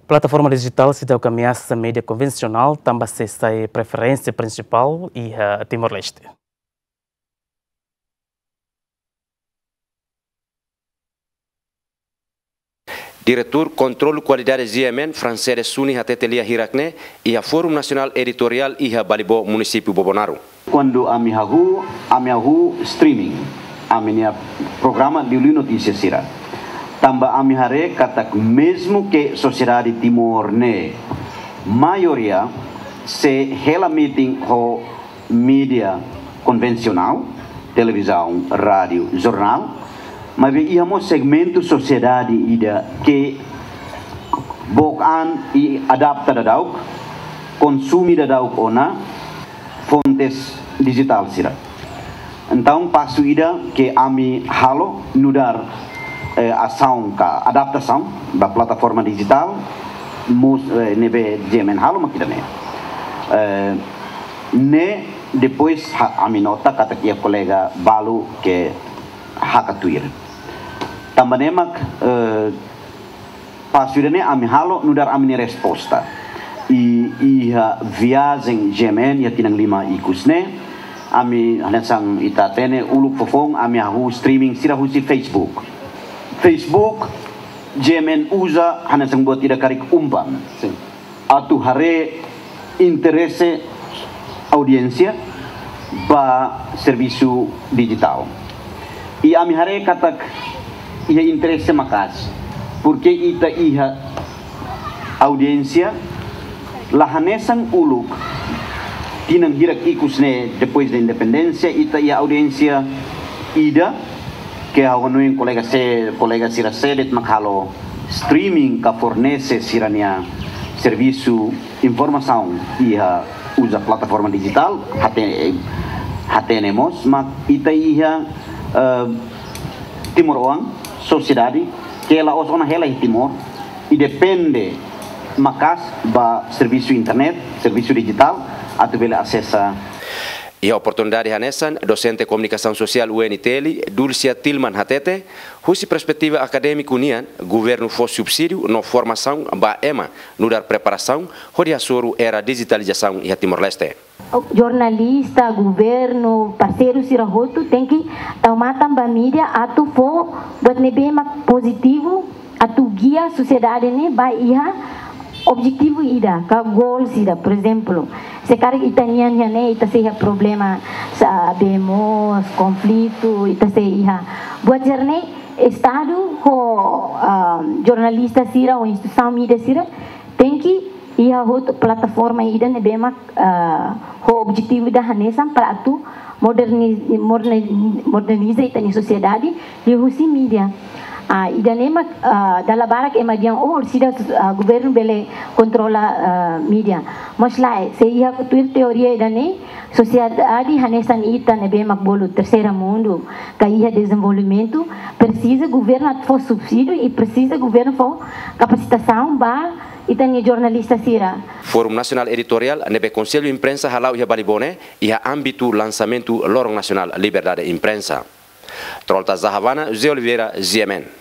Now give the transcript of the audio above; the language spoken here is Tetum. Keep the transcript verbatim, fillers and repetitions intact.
Plataforma dijitál seidauk ameasa média konvensionál, tanba sei sai preferénsia prinsipál iha Timor-Leste. Diretór Kontrolu Kualidade G M N, Francede Suni, hatete lia hirak ne'e iha Fórum Nasionál Editoriál iha Balibó, Munisípiu Bobonaro. Kuandu ami hahú, ami hahú streaming ami-nia programa liuliu notísia sira. Tanba ami haree katak mezmu ke sosiedade Timor ne'e maioria sei hela meeting ho média konvensionál, televizaun, rádiu, jornál, maibé iha mós segmentu sosiedade ida ke book an i adapta daudauk, konsume daudauk ona fontes dijitál sira. Entaun, pasu ida ke ami halo nu'udar, eh, asaun ka adaptasaun ba plataforma dijitál, mós, eh, ne'ebé G M N halo mak ida-ne'e. Eh, ne'e depois ha-, ami nota katak iha kolega balu ke hakat tuir. Tanba ne'e mak, eh, pasu ida-ne'e ami halo nu'udar ami-nia resposta. I, iha viajen G M N iha tinan lima ikus ne'e, ami hanesan ita hatene uluk foufoun ami hahú streaming sira husi Facebook. Facebook, G M N uza hanesan buat ida karik umpan. Sin. Atu haree interese audiénsia ba servisu dijitál. I ami haree katak iha interese maka'as, porke ita iha audiénsia la hanesan uluk, tinan hirak ikus ne'e depois de independénsia, ita iha audiénsia ida ke ha'u hanoin kolega se-, kolega sira sé de'it mak halo streaming ka fornese sira-nia servisu informasaun iha uza plataforma dijitál, hate-, hatene mós mak ita iha, eh, timoroan, sosiedade ke la'ós ona hela iha Timor, i depende maka'as ba servisu internet, servisu dijitál, atu bele asesa. Iha oportunidade hanesan, dosente Komunikasaun Sosiál U N T L, Dulcia Tilman hatete, husi perspetiva akadémiku nian, governu fó subsídiu no formasaun ba ema nu'udar preparasaun hodi hasoru era dijitalizasaun iha Timor-Leste. Jornalista, governu, parseiru sira hotu tenke tau matan ba mídia atu fó buat ne'ebé mak pozitivu, atu gia sosiedade ne'e ba iha objetivu ida, ka goals ida, por ezemplu. Se karik ita-nian iha ne'e, ita sei iha problema, sa, bemos, konflitu, ita sei iha. Buat sira-ne'e, Estadu ho, ah, jornalista sira, ho instituisaun mídia sira, tenke iha hotu plataforma ida ne'ebé mak, ah, ho objetivu ida hanesan para atu moderni-, moderne-, moderniza ita-nia sosiedade liuhusi mídia. Ah, ida-ne'e mak, ah, dala barak ema dehan, oh, sida, ah, governu bele kontrola, ah, mídia. Mas lae, se iha tuir teoria ida-ne'e, sosiedade hanesan ita ne'ebé mak bolu terseira mundu, ka iha dezenvolvimentu, presiza governu atu fó subsídiu i presiza governu fó kapasitasaun ba ita-nia jornalista sira. Fórum Nasionál Editoriál ne'ebé Konsellu Imprensa hala'o iha Balibó ne'e, iha ámbitu lansamentu Loron Nasionál Liberdade Imprensa. Trolta Zahavana, José Oliveira, G M N.